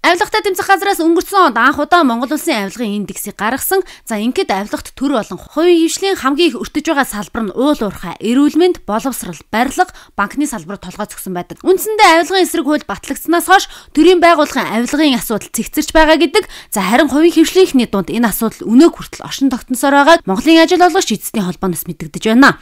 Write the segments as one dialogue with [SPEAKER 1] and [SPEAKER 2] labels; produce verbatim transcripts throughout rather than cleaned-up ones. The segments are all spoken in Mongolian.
[SPEAKER 1] Авилгатай тэмцэх газраас өнгөрсөн онд анх удаа Монгол улсын авилгын индексийг гаргасан. За ингээд авилгат төр болон хувийн хвшлийн хамгийн их өртөж байгаа салбар нь уул уурхай, эрүүл мэнд, боловсрал, барилга, банкны салбарт толгой зогсон байдаг. Үндсэндээ авилгын эсрэг хууль батлагдсанаас хойш төрийн байгууллагын авилгын асуудал цэгцэрч байгаа гэдэг. За харин хувийн хвшлийнхний дунд энэ асуудал өнөөг хүртэл оршин тогтносоор байгааг Монголын ажил олгогч эзэдийн холбооноос мэдэгдэж байна.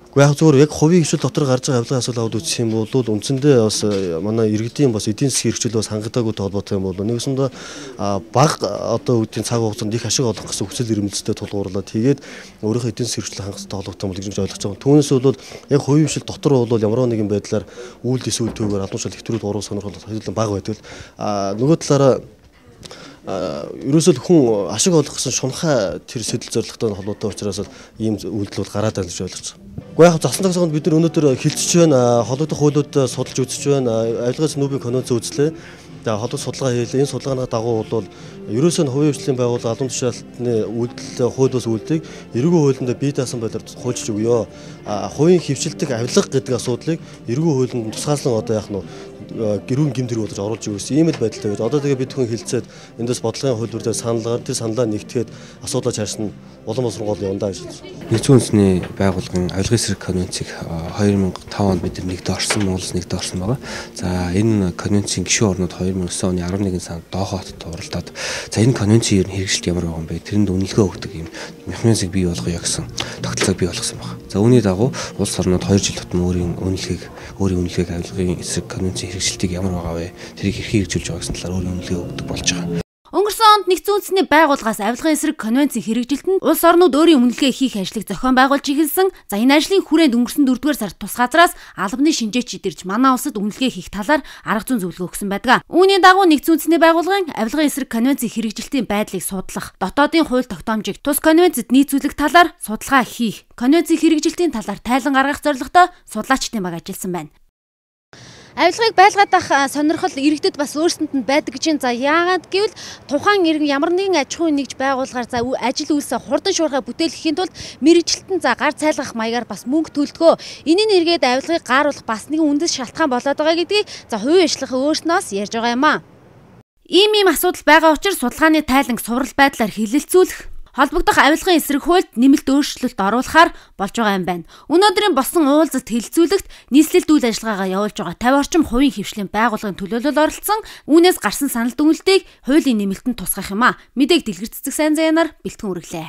[SPEAKER 2] Гэхдээ яг зөвхөн яг хувийн хвшил дотор гарч байгаа авилгын асуудал аваад үзэх юм бол үндсэндээ бас манай иргэдийн бас эдийн засгийн хэрэгжил бас хангалтайгүйтэй холбоотой юм бол нэгсэндээ баг одоо үүдийн цаг хугацаанд их ашиг олох гэсэн хүсэл эрмэлзэлтэй тулгуурлаад тэгээд өөрийнхөө эдийн засгийн хэрэгжил хангалттай холбоотой юм гэж ойлгож байгаа. Түүнээс бол яг хувийн хвшил дотор бол ямар нэгэн байдлаар үйл эсвэл төвөөр албан тушаал хэвтрүүд уруу сонирхол хэдүүлэн бага байдаг. А нөгөө талаараа ерөөсөө хүн ашиг олох гэсэн шунхай тэр сэтэл зорилготой холбоотой учраас ийм үйлдэл гараад байна гэж ойлгож байна. Гэхдээ яг засан тагсгонд бид нар өнөөдөр хилцэж байна, холбогдох хуулиуд судалж үзэж байна, авилгын санхүүгийн конвенц үзлээ. За холбогдох судалгаа хийлээ. Энэ судалгааны дагуу бол ерөөсөө нь хувийн хвшлийн байгууллага албан тушаалтны үйлдэл хууль бус үйлдэлийг эргүү хуулинд бие даасан байдлаар хуульчж өгөө. А хувийн хвшилтэг авилга гэдэг асуудлыг эргүү хуулинд тусгаарлан одоо яах нь гэрүүн гэмтэр болж оруулж өгсөн ийм л байдалтай байж. Одоо тэгээ бид хүн хилцээд эндээс бодлогын хуулбар дээр саналгаар тэр саналаа нэгтгэхэд асуудлаа чарсан улам боловсрон гол явандаа гэж байна.
[SPEAKER 3] Нэгдсэн үндэсний байгууллагын авилгын эсрэг конвенцийг хоёр мянга и таван онд бид нэгдэ орсон, Монголс нэгдэ орсон байгаа. За энэ конвенцийн гишүүн орнууд хоёр мянга и девсан оны арван нэгэн сард Дохо хотод оролдоод за энэ конвенцийн ер нь хэрэгжилт ямар байгаа юм бэ? Тэрэнд үнэлгээ өгдөг юм механизмыг бий болгоё гэсэн тогтолцоог бий болгосон байна. За үүний дагуу улс орнууд хоёр жил тутам өөрийн үнэлгээг өөрийн үнэлгээг авилгын эсрэг конвенцийн хэрэгжилтийг ямар байгаа вэ? Тэрийг хэрхэн хэрэгжүүлж байгаа гэсэн талаар өөрийн үнэлгээ өгдөг болж байгаа.
[SPEAKER 1] Өнгөрсөн онд нэгдсэн үндэсний байгууллагаас авилгын эсрэг конвенцийн хэрэгжилтэнд улс орнууд өөрийн үнэлгээ хийх ажлыг зохион байгуулж эхэлсэн. За энэ ажлын хүрээнд өнгөрсөн дөрөвдүгээр сард тус газраас албаны шинжээч идэрж манай улсад үнэлгээ хийх талаар арга зүйн зөвлөгөө өгсөн байдаг. Үүний дагуу нэгдсэн үндэсний байгууллагын авилгын эсрэг конвенцийн хэрэгжилтийн байдлыг судлах, дотоодын хууль тогтоомжийг тус конвенцэд нийцүүлэх талаар судалгаа хийх, конвенцийн хэрэгжилтийн талаар тайлан гаргах зорилготой судлаачдын баг ажилласан байна. Авилгыг байлгаадах сонирхол иргэдэд бас өөрсдөнд нь байдаг гэж. За яагаад гэвэл тухайн иргэн ямар нэгэн аж ахуйн нэгж байгуулгаар за ажил үйлсээ хурдан шуурхай бүтээхийн тулд мэрэгчлэлтэн за гар цайлгах маягаар бас мөнгө төлдгөө. Энийн эргээд авилгыг гааруулах бас нэгэн үндэс шалтгаан болоод байгаа гэдгийг за хувийн хвшлийнхэн өөрснөөс ярьж байгаа юм аа. Ийм ийм асуудал байгаа учраас судалгааны тайланг суврал байдлаар хилэлцүүлэх, холбогдох авилгын эсрэг хуульд нэмэлт өөрчлөлт оруулахаар болж байгаа юм байна. Өнөөдрийн болсон уулзалт хэлэлцүүлэгт нийслэлд үйл ажиллагаагаа явуулж байгаа тавь орчим хувийн хвшлийн байгууллагын төлөөлөл оролцсон. Үүнээс гарсан санал дүгнэлтийг хуулийн нэмэлтэнд тусгах юм а. Мэдээг дэлгэр цэцэг сайн зэянаар бэлтгэн үргэлээ.